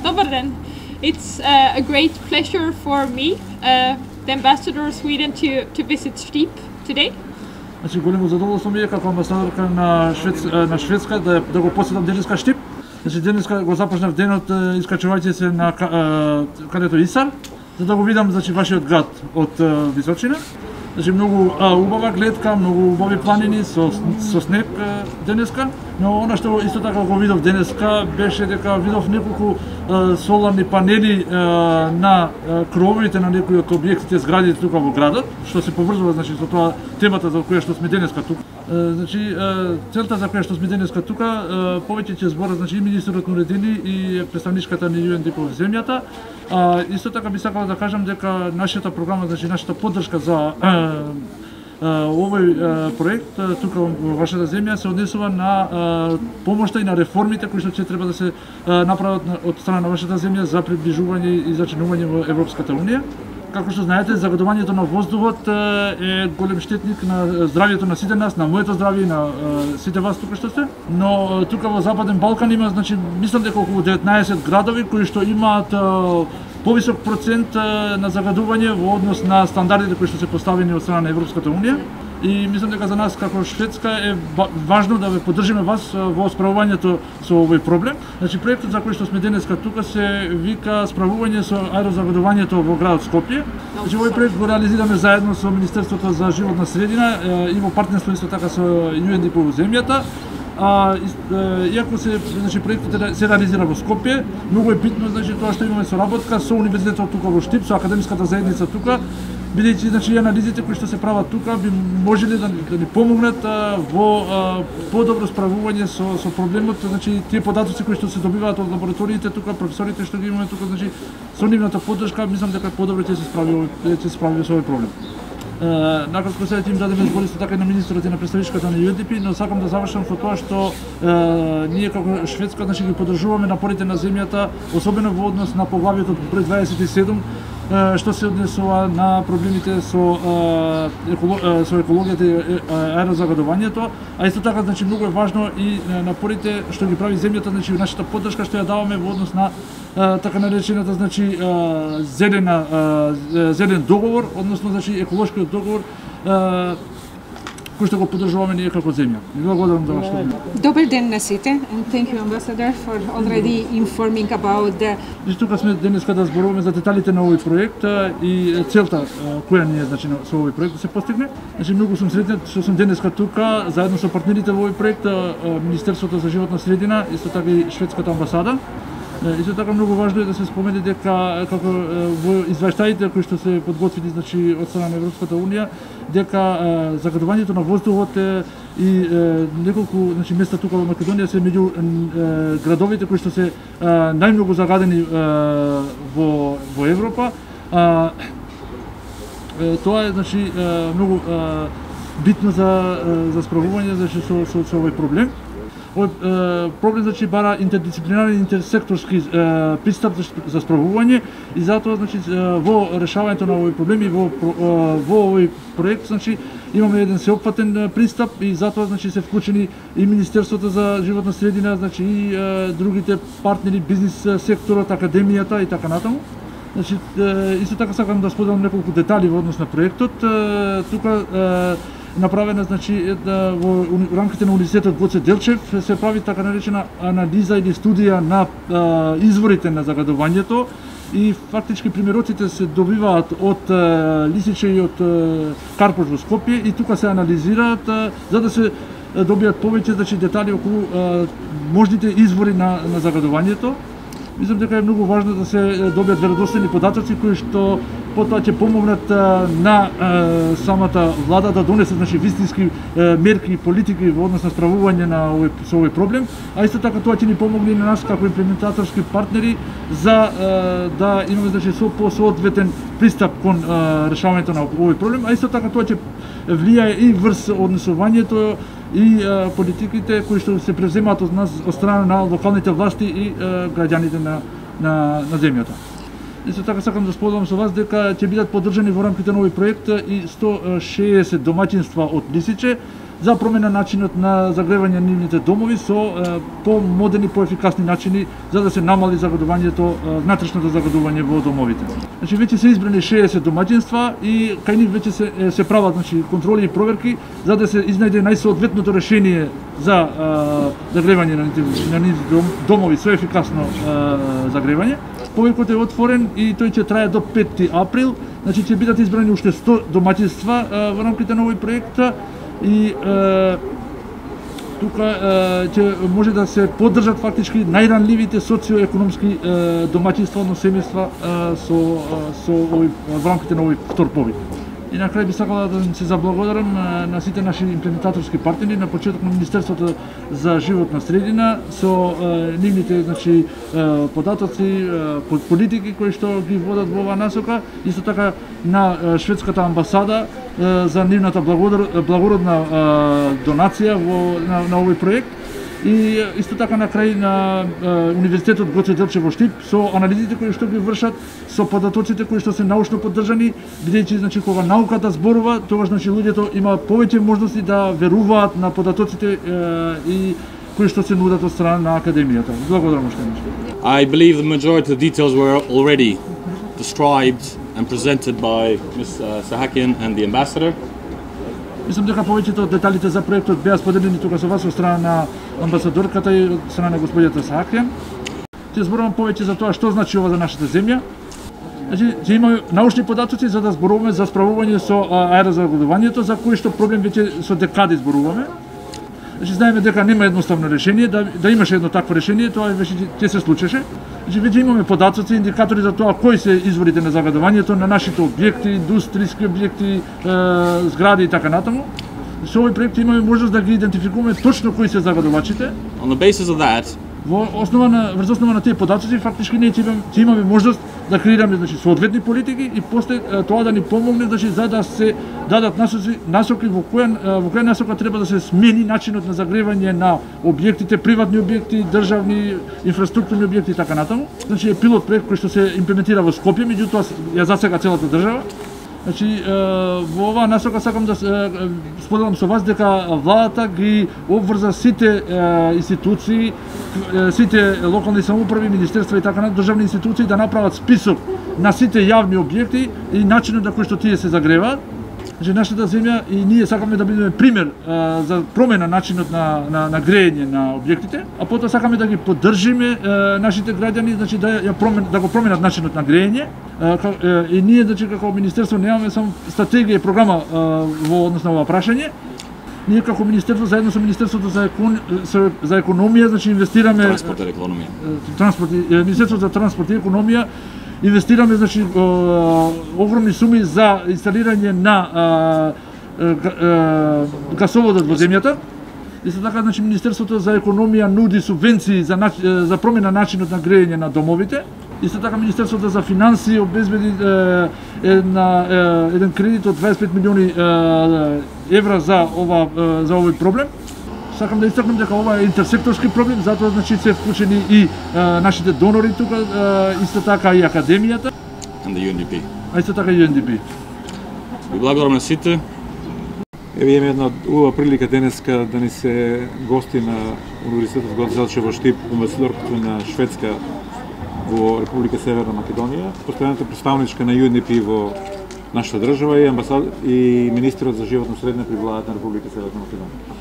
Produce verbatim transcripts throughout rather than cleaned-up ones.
Добар ден. It's uh, a great pleasure for me, uh, the ambassador of Sweden, to, to visit Strip today. Значи големо задоволство ми е како амбасадорка на Швец, на Шведска да да го посетам денеска Штип. Значи денеска го започнав денот искачувајќи се на кадето Исар, за да го видам значи вашиот град од височина. Значи многу а, убава гледка, многу убави планини со со снег денеска, но она што исто така го видов денеска беше дека видов неколку а, соларни панели а, на а, крововите на некои од објектите зградите тука во градот, што се поврзува значи со тоа темата за која што сме денеска тука. А, значи а, целта за која што сме денеска тука, а, повеќе ќе зборат значи и министерот на уредени и представничката на ю ен ди пи во земјата. А, исто така би сакала да кажам дека нашата програма, значи нашата поддршка за а, а, овој а, проект а, тука во вашата земја се однесува на а, помошта и на реформите кои што ќе треба да се а, направат на, од страна на вашата земја за приближување и зачинување во Европската унија. Како што знаете, загадувањето на воздухот е голем штетник на здравјето на сите нас, на моето здравје и на сите вас тука што сте. Но тука во Западен Балкан има, значи, мислам дека околу деветнаесет градови кои што имаат повисок процент на загадување во однос на стандардите кои што се поставени од страна на Европската унија. И мислам дека за нас како Шведска е важно да ве поддржиме вас во справувањето со овој проблем. Значи проектот за кој што сме денеска тука се вика справување со аерозагадувањето во градот Скопје. Значи овој проект го реализираме заедно со Министерството за животна средина и во партнерство исто така со ю ен ди пи во земјата. А, иако се значи проектот се реализира во Скопје, многу е битно значи тоа што имаме соработка со универзитетот тука во Штип, со академската заедница тука, бидејќи значи анализите кои што се прават тука би можеле да, да ни помогнат а, во а, подобро справување со со проблемот, значи тие податоци кои што се добиваат од лабораториите тука, професорите што ги имаме тука, значи со нивната поддршка мислам дека подобро ќе се справи ќе се справи со овој проблем. Uh, накратко сега ќе им дадеме збор исто така и на министерот и на представничката на ю ен ди пи, но сакам да завршам со тоа што uh, ние како Шведска значи ги поддржуваме напорите на земјата, особено во однос на поглавието број дваесет и седум, uh, што се однесува на проблемите со uh, еколог, uh, со екологијата и аерозагадувањето, а исто така значи многу е важно и напорите што ги прави земјата, значи нашата поддршка што ја даваме во однос на Uh, така наречената значи uh, зелена uh, зелен договор, односно значи еколошкиот договор uh, кој што го поддржуваме ние како земја. И благодарам за вашето внимание. Добар ден на сите, and thank you ambassador for already informing about the. И тука сме денеска да зборуваме за деталите на овој проект uh, и целта uh, која ни е значи со овој проект да се постигне. Значи многу сум среќен што сум денеска тука заедно со партнерите во овој проект, uh, Министерството за животна средина, исто така и шведската амбасада. Исто така многу важно е да се спомене дека како во извештаите кои што се подготвени значи од страна на Европската унија, дека е, загадувањето на воздухот е и е, неколку значи места тука во Македонија се меѓу е, градовите кои што се е, најмногу загадени е, во во Европа. А, е, тоа е значи е, многу е, битно за за справување значи со со, со овој проблем. Овој е, проблем значи бара интердисциплинарен, интерсекторски е, пристап за, за справување и затоа значи во решавањето на овој проблем и во во овој проект значи имаме еден сеопфатен пристап и затоа значи се вклучени и Министерството за животна средина, значи и е, другите партнери, бизнис секторот, академијата и така натаму. Значи исто така сакам да споделам неколку детали во однос на проектот. Тука е, направена значи да, во рамките на универзитетот Гоце Делчев се прави така наречена анализа или студија на а, изворите на загадувањето и фактички примероците се добиваат од а, Лисиче и од а, Карпош во Скопје и тука се анализираат а, за да се добијат повеќе значи детали околу а, можните извори на, на загадувањето. Мислам дека е многу важно да се добијат веродостојни податоци кои што потоа ќе помогнат на е, самата влада да донесе значи вистински е, мерки и политики во однос на справување на овој со овој проблем, а исто така тоа ќе ни помогне и на нас како имплементаторски партнери за е, да имаме значи со посоодветен пристап кон е, решавањето на овој проблем, а исто така тоа ќе влијае и врз однесувањето и е, политиките кои што се превземаат од нас од страна на локалните власти и е, граѓаните на на на земјата. Исто така сакам да споделам со вас дека ќе бидат поддржани во рамките на овој проект и сто шеесет домаќинства од Лисиче, за промена начинот на загревање на нивните домови со помодерни, поефикасни начини за да се намали загадувањето, внатрешното загадување во домовите. Значи веќе се избрани шеесет домаќинства и кај нив веќе се се прават значи контроли и проверки за да се изнајде најсоодветното решение за загревање на нивните домови со ефикасно загревање. Повикот е отворен и тој ќе трае до петти април. Значи ќе бидат избрани уште сто домаќинства во рамките на овој проект и е, тука е, ќе може да се поддржат фактички најранливите социоекономски е, домаќинства, одно семејства со со овој во рамките на овој втор повик. И на крај би сакала да се заблагодарам на сите наши имплементаторски партнери, на почеток на Министерството за животна средина со е, нивните значи е, податоци, е, политики кои што ги водат во оваа насока, исто така на е, шведската амбасада е, за нивната благодар, благородна е, донација во на, на овој проект. И исто така на крај на е, Универзитетот Гоце Делчев во Штип со анализите кои што ги вршат, со податоците кои што се научно поддржани, бидејќи значи кога науката зборува, тогаш значи луѓето има повеќе можности да веруваат на податоците е, и кои што се нудат од страна на академијата. Благодарам уште еднаш. I believe the majority of the details were already described and presented by Miz Sahakian and the ambassador. Мислам дека повеќето од деталите за проектот беа споделени тука со вас од страна на амбасадорката и од страна на господјата Саакјан. Ќе зборувам повеќе за тоа што значи ова за нашата земја. Значи, ќе имаме научни податоци за да зборуваме за справување со аерозагадувањето, за кој што проблем веќе со декади зборуваме. Значи, знаеме дека нема едноставно решение, да, да имаше едно такво решение, тоа веќе ќе се случеше. Значи, веќе имаме податоци, индикатори за тоа кои се изворите на загадувањето на нашите објекти, индустријски објекти, е, згради и така натаму. Со овој проект имаме можност да ги идентификуваме точно кои се загадувачите. On the basis of that, Во основа на врз основа на тие податоци фактички ние ќе имаме, ќе имаме можност да креираме значи соодветни политики и после тоа да ни помогне значи за да се дадат насоки, насоки во која во која насока треба да се смени начинот на загревање на објектите, приватни објекти, државни, инфраструктурни објекти и така натаму. Значи е пилот проект кој што се имплементира во Скопје, меѓутоа ја засега целата држава. Значи, во оваа насока сакам да споделам со вас дека владата ги обврза сите институции, сите локални самоуправи, министерства и така на државни институции да направат список на сите јавни објекти и начинот на кој што тие се загреваат. Значи, нашата земја и ние сакаме да бидеме пример а, за промена начинот на, на, на грејење на објектите, а потоа сакаме да ги поддржиме а, нашите граѓани, значи да ја промен, да го променат начинот на грејење. А, ка, а, и ние значи како министерство немаме само стратегија и програма а, во однос на ова прашање. Ние како министерство заедно со Министерството за, екон... за економија, значи инвестираме Транспорт и економија. Транспорт, Министерството за транспорт и економија инвестираме значи огромни суми за инсталирање на а, а, гасоводот во земјата. Исто така значи Министерството за економија нуди субвенции за за промена начинот на грејење на домовите. Исто така Министерството за финансии обезбеди е, една, е, еден кредит од дваесет и пет милиони е, евра за ова е, за овој проблем. Сакам да истакнам дека ова е интерсекторски проблем, затоа значи се вклучени и е, нашите донори тука, е, исто така и академијата. And the U N D P. А исто така и U N D P. Ви благодарам на сите. Еве имаме една убава прилика денеска да ни се гости на Универзитетот Гоце Делчев во Штип, амбасадорката на Шведска во Република Северна Македонија, постојаната представничка на U N D P во нашата држава и амбасад и министерот за животна средина при владата на Република Северна Македонија.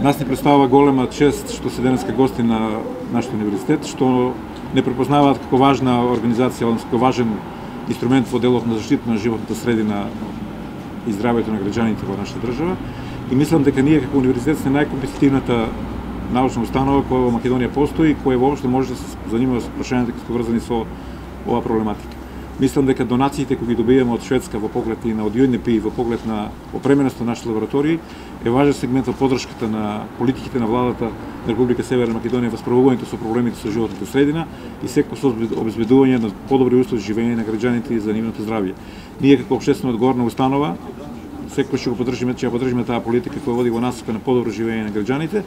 Нас ни представува голема чест што се денеска гости на нашиот универзитет, што не препознаваат како важна организација, односно како важен инструмент во делот на заштита на животната средина и здравјето на граѓаните во нашата држава. И мислам дека ние како универзитет сме најкомпетитивната научна установа која во Македонија постои и која воопшто може да се занимава со прашањата кои се врзани со оваа проблематика. Мислам дека донациите кои ги добиваме од Шведска во поглед и на од U N D P во поглед на опременост на нашите лаборатории е важен сегмент од поддршката на политиките на владата на Република Северна Македонија во справувањето со проблемите со животната средина и секој со обезбедување на подобри услови за живење на граѓаните и за нивното здравје. Ние како општествено одговорна установа секој ќе го поддржиме, ќе ја поддржиме таа политика која води во насока на подобро живење на граѓаните,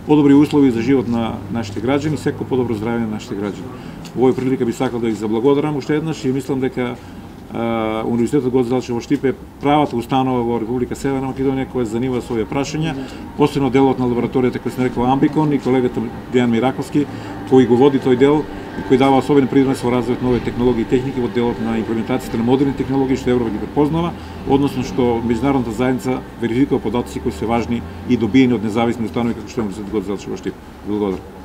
подобри услови за живот на нашите граѓани, секој подобро здравје на нашите граѓани. Во овој прилика би сакал да ви заблагодарам уште еднаш и мислам дека Универзитетот Гоце Делчев во Штип е правата установа во Република Северна Македонија која се занимава со овие прашања, посебно делот на лабораторијата кој се нарекува Амбикон и колегата Дејан Мираковски кој го води тој дел и кој дава особен принос во развојот на нови технологии и техники во делот на имплементацијата на модерни технологии што Европа ги препознава, односно што меѓународната заедница верификува податоци кои се важни и добиени од независни установи како што е Универзитетот Гоце Делчев во Штип. Благодарам.